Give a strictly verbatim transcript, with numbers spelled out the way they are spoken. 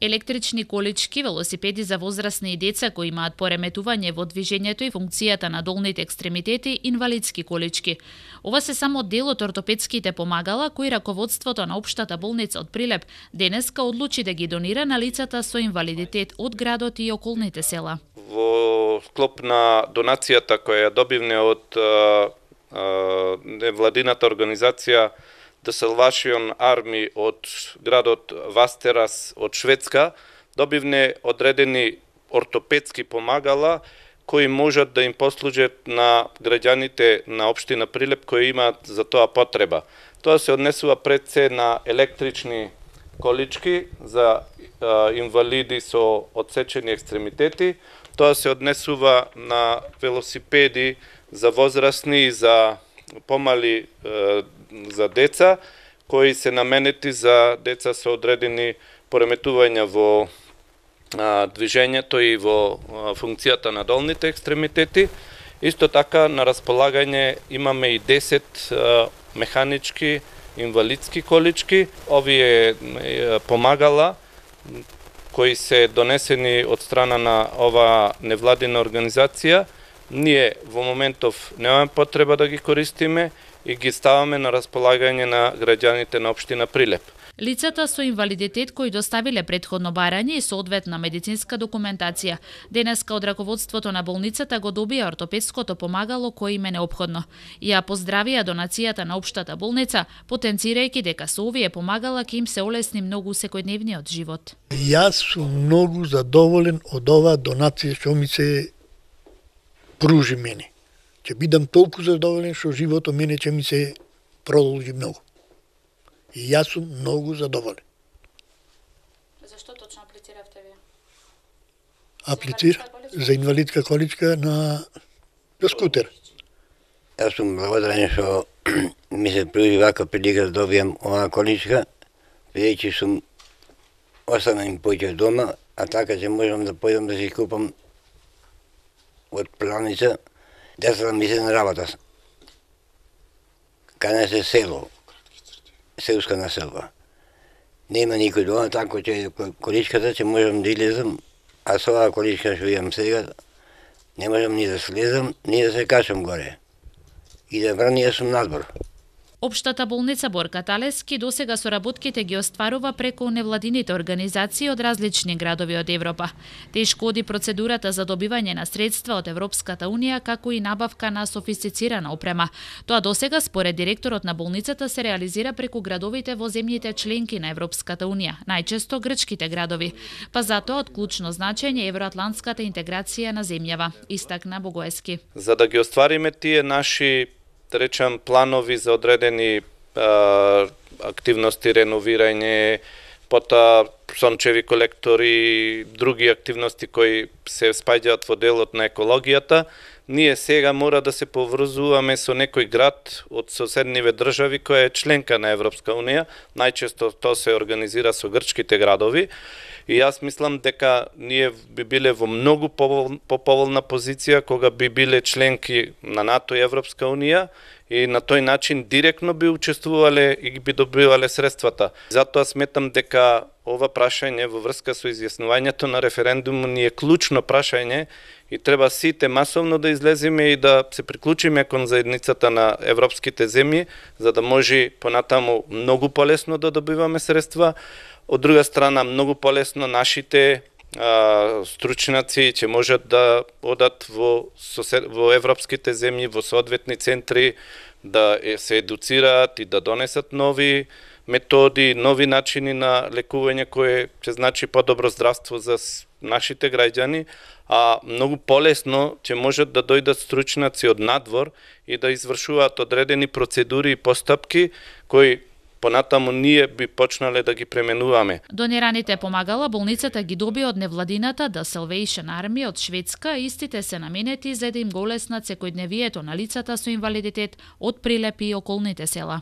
Електрични колички, велосипеди за возрастни и деца кои имаат пореметување во движењето и функцијата на долните екстремитети, инвалидски колички. Ова се само дел од ортопедските помагала кои раководството на општата болница од Прилеп денеска одлучи да ги донира на лицата со инвалидитет од градот и околните села. Во склоп на донацијата која ја добивне од а, а, невладината организација The Salvation Army од градот Вастерас од Шведска, добивне одредени ортопедски помагала кои можат да им послужат на граѓаните на општина Прилеп кои имаат за тоа потреба. Тоа се однесува пред се на електрични колички за а, инвалиди со одсечени екстремитети, тоа се однесува на велосипеди за возрастни и за помали е, за деца, кои се наменети за деца со одредени пореметувања во а, движењето и во а, функцијата на долните екстремитети. Исто така на располагање имаме и десет а, механички инвалидски колички. Овие е, помагала кои се донесени од страна на ова невладина организација, ние во моментов немаме потреба да ги користиме и ги ставаме на располагање на граѓаните на општина Прилеп. Лицата со инвалидитет кои доставиле претходно барање и соодветна медицинска документација, денеска од раководството на болницата го добија ортопедското помагало кое им е неопходно. Ја поздравија донацијата на општата болница, потенцирајќи дека со овие помагала ќе им се олесни многу секојдневниот живот. Јас сум многу задоволен од оваа донација што ми се пружи мене. Ќе бидам толку задоволен што животот мене ќе ми се продолжи многу. И јас сум многу задоволен. Зашто точно аплициравте вие? Аплицира за инвалидска количка на за скутер. Јас сум благодарен што ми се пружи вака прилика да добијам оваа количка, бидејќи сум останем поќе дома, а така ќе можам да појдам да си купам од продавница. Децата ми се на работа. Каде се село, селска населба. Нема никој дома, така ќе количката ќе можам да излезам, а со оваа количка што имам сега, не можам ни да слезам, ни да се качам горе. И да брани, јас сум надбор. Општата болница Борка Талески досега соработките ги остварува преку невладините организации од различни градови од Европа. Тешко оди процедурата за добивање на средства од Европската унија, како и набавка на софистицирана опрема. Тоа досега според директорот на болницата се реализира преку градовите во земјите членки на Европската унија, најчесто грчките градови. Па затоа од клучно значење евроатлантската интеграција на земјава, истакна Богоески. За да ги оствариме тие наши да речам планови за одредени а, активности, реновирање, потоа сончеви колектори, други активности кои се спаѓаат во делот на екологијата, ние сега мора да се поврзуваме со некој град од соседниве држави која е членка на Европска унија, најчесто тоа се организира со грчките градови. И јас мислам дека ние би биле во многу поповолна позиција кога би биле членки на НАТО и Европска унија и на тој начин директно би учествувале и би добивале средствата. Затоа сметам дека ова прашање во врска со изјаснувањето на референдумот ни е клучно прашање и треба сите масовно да излеземе и да се приклучиме кон заедницата на европските земји, за да може понатаму многу полесно да добиваме средства. Од друга страна, многу полесно нашите а, стручнаци ќе можат да одат во, во европските земји, во соодветни центри, да се едуцираат и да донесат нови методи, нови начини на лекување кои ќе значи подобро здравство за нашите граѓани, а многу полесно ќе можат да дојдат стручнаци од надвор и да извршуваат одредени процедури и постапки кои понатаму ние би почнале да ги пременуваме. Донираните помагала болницата ги доби од невладината The Salvation Army од Шведска, истите се наменети за да им го олеснат секојдневието на лицата со инвалидитет од Прилеп и околните села.